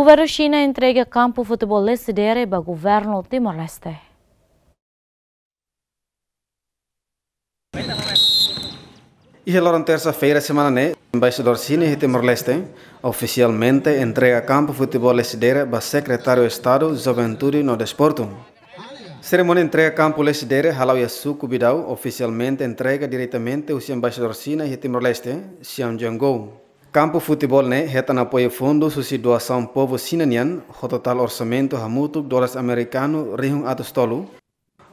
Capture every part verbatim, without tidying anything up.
Governu Xina entrega kampu futeból Lecidere ba governu Timor-Leste. Iha loron tersa-feira semana ne'e, Embaixadór Xina iha Timor-Leste ofisialmente entrega kampu futeból Lecidere ba Sekretáriu Estadu Juventude no Desportu. Serimónia entrega kampu Lecidere hala'o iha suku Bidau, ofisialmente entrega diretamente husi Embaixadór Xina iha Timor-Leste, Xian Jiangou. Kampu futeból ne'e hetan apoiu fundus husi doasaun povu Xina nian, ho totál orsamentu hamutuk dólares amerikanu rihun atus tolu,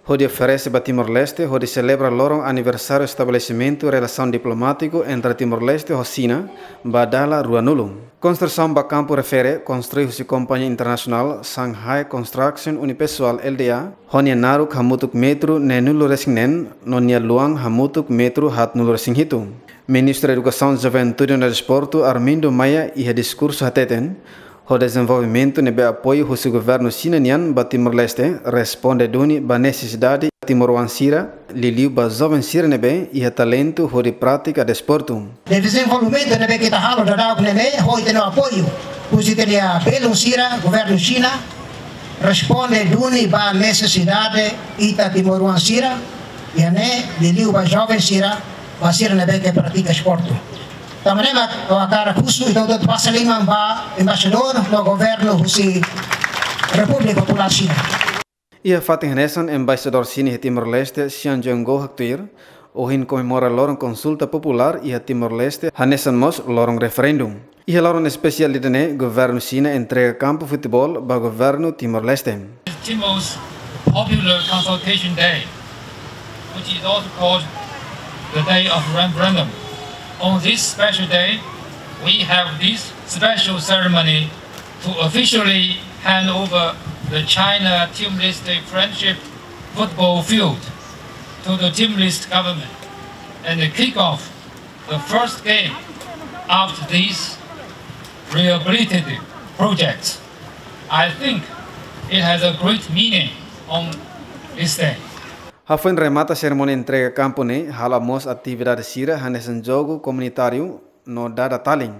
hodi oferese ba Timor-Leste hodi selebra loron aniversáriu estabelesimentu relasaun diplomátiku entre Timor-Leste ho Xina ba dala ruanulu. Konstrusaun ba kampu refere konstrui husi kompañia internasionál Shanghai Construction Unipesoal L D A, ho nia naruk hamutuk metru neenulu-resin-neen, no nia luan hamutuk metru haatnulu-resin-hitu. Ministru Edukasaun, Juventude no Desportu Armindo Maia iha diskursu hateten, ho dezenvolvimentu ne'ebé apoiu husi governu Xina nian ba Timor-Leste responde duni ba nesesidade timoroan sira, liuliu ba joven sira ne'ebé iha talentu hodi pratika desportu. Dezenvolvimentu ne'ebé ita halo daudaun ne'e, ho ita-nia apoiu husi ita-nia belun sira, governu Xina responde duni ba nesesidade ita timoroan sira, iha ne'e liuliu ba joven sira, ba sira ne'ebé ke pratika desportu. Tanba ne'e mak ha'u hakarak husu ita hotu-hotu basa liman ba embaixadór no governu husi Repúblika Populár Xina. Iha fatin hanesan, Embaixadór Xina iha Timor-Leste, Xian Jiangou haktuir, ohin komemora loron konsulta populár iha Timor-Leste, hanesan mós loron referendu. Iha loron espesiál ida-ne'e, governu Xina entrega kampu futeból ba governu Timor-Leste. Timor's popular consultation day, which is also called the day of referendum. On this special day, we have this special ceremony to officially hand over the China Timor-Leste Friendship Football Field to the Timor-Leste government and kick off the first game of this rehabilitative project. I think it has a great meaning on this day. Hafoin remata serimónia entrega kampu ne'e, hala'o mós atividade sira hanesan jogu komunitáriu no dada talin.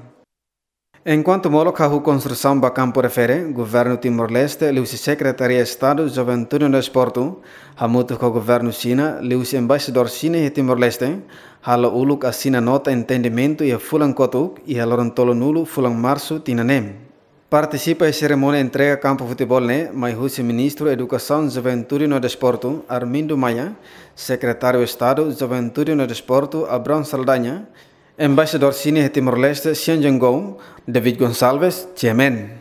Enkuantu molok hahú konstrusaun ba kampu refere, governu Timor-Leste liuhusi Sekretaria Estadu Juventude no Desportu, hamutuk ho governu Xina liuhusi Embaixadór Xina iha Timor-Leste, halo uluk asina nota entendimentu iha fulan kotuk, iha loron tolunulu fulan Marsu tinan ne'e. Partisipa iha serimónia entrega kampu futeból ne'e mai husi Ministru Edukasaun, Juventude no Desportu, Armindo Maia, Sekretáriu Estadu Juventude no Desportu, Abrão Saldanha, Embaixadór Xina iha Timor-Leste, Xian Jiangou, David Gonçalves, G M N.